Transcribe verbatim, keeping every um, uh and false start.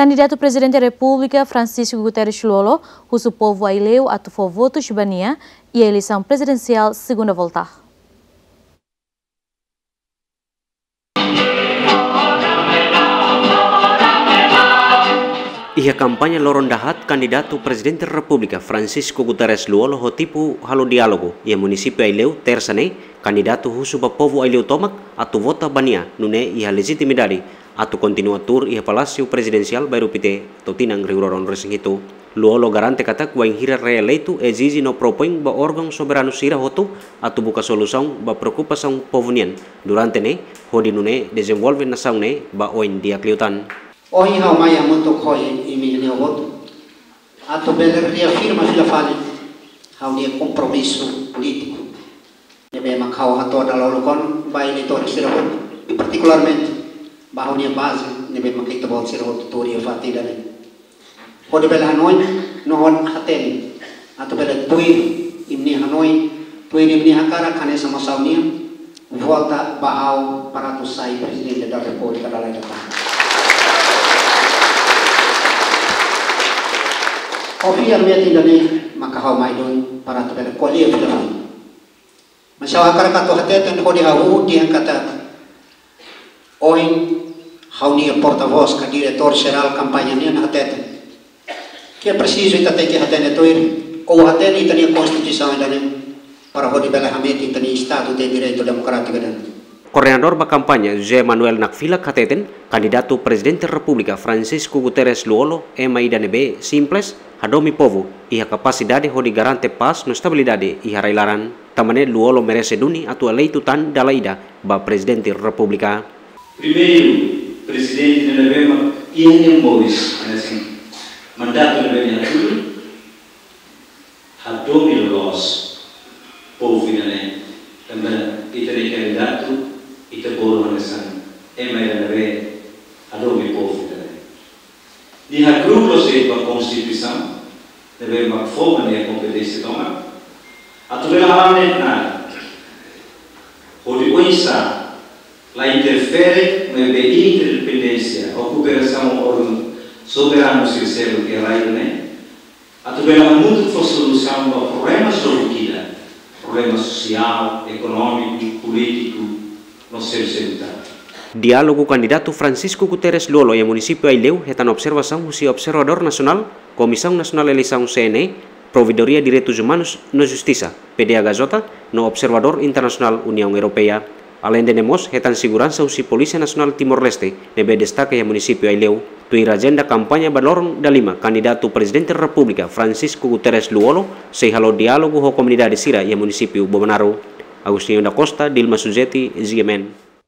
Kandidatu Prezidente Repúblika Francisco Guterres Lú-Olo husu povu Aileu atu fó votus ba nia iha eleisaun prezidensiál segunda volta. Iha kampaña loron dahaat, kandidatu Prezidente Repúblika Francisco Guterres Lú-Olo ho tipu halo diálogu iha munisípiu Aileu, Tersa ne'e, kandidatu husu ba povu Aileu tomak atu vota ba nia, nune'e iha lejitimidade atu kontinua tuur iha Palásiu Prezidensiál Bairru Pité to'o tinan rihun rua ruanulu-resin-hitu. Lú-Olo garante katak wainhira reeleitu ezije no propoin ba órgaun soberanu sira hotu atu buka solusaun ba preokupasaun povu nian durante ne'e, hodi nune'e dezenvolve nasaun ne'e ba oin di'ak liután. Ohin ha'u mai hamutuk ho imi-nia votu atu bele reafirma fila fali ha'u-nia kompromisu polítiku ne'ebé mak ha'u hato'o dala uluk ona ba eleitór sira hotu, i partikularmente ba ha'u-nia baze ne'ebé mak ita-boot sira hotu tuur iha fatin ida-ne'e. Hodi bele hanoin no hodi hatene atu bele tuir imi-nia hanoin, tuir imi-nia hakarak hanesan mós ha'u-nian, vota ba ha'u para atu sai Prezidente da Repúblika dala ida tan. Ho fiar metin ida-ne'e maka ha'u mai duni para atu bele ko'alia fila fali. Mas ha'u hakarak atu hateten hodi hahú dehan katak ohin ha'u-nia portavós ka diretór jerál kampaña nian hateten katak presiza ita tenke hatene tuir, ou hatene ita-nia Konstituisaun ida-ne'e para hodi bele hametin ita-nia Estadu de Direitu Demokrátiku ida-ne'e. Koordenadór ba kampaña José Manuel Nakfilak hateten, kandidatu Prezidente Repúblika Francisco Guterres Lú-Olo ema ida ne'ebé simples, hadomi povu, iha kapasidade hodi garante pás no estabilidade iha rai-laran. Tanba ne'e Lú-Olo merese duni atu eleitu tan dala ida ba Prezidente Repúblika. Primeiru, Prezidente ne'ebé mak iha nia moris hanesan mandatu ne'ebé nia hatudu, hadomi loloos povu ida-ne'e, tanba ita-nia kandidatu, ita bolu hanesan ema ida ne'ebé hadomi povu ida-ne'e. Nia hakru'uk loos ba Konstituisaun ne'ebé mak fó ba nia kompeténsia tomak atu bele hala'o ne'e nada, hodi oinsá la interfere maibé independénsia ou kooperasaun ho órgaun soberanu sira seluk iha rai ne'e, atu bele hamutuk fó solusaun ba problema seluk ida, problema sosiál, ekonómiku, polítiku no seluk-seluk tan. Diálogu kandidatu Francisco Guterres Lú-Olo iha munisípiu Aileu hetan observasaun husi observadór nasionál, Komisaun Nasionál Eleisaun C N E, Provedoria Direitus Umanus no Justisa, P D H J, no observadór internasionál Uniaun Europeia. Aleinde ne'e mós hetan seguransa husi Polísia Nasionál Timor-Leste ne'ebé destaka iha munisípiu Aileu. Tuir ajenda kampaña ba loron dalima, kandidatu Prezidente Repúblika Francisco Guterres Lú-Olo sei halo diálogu ho komunidade sira iha munisípiu Bobonaro. Agostinho da Costa, Dilma Suzeti, G M N.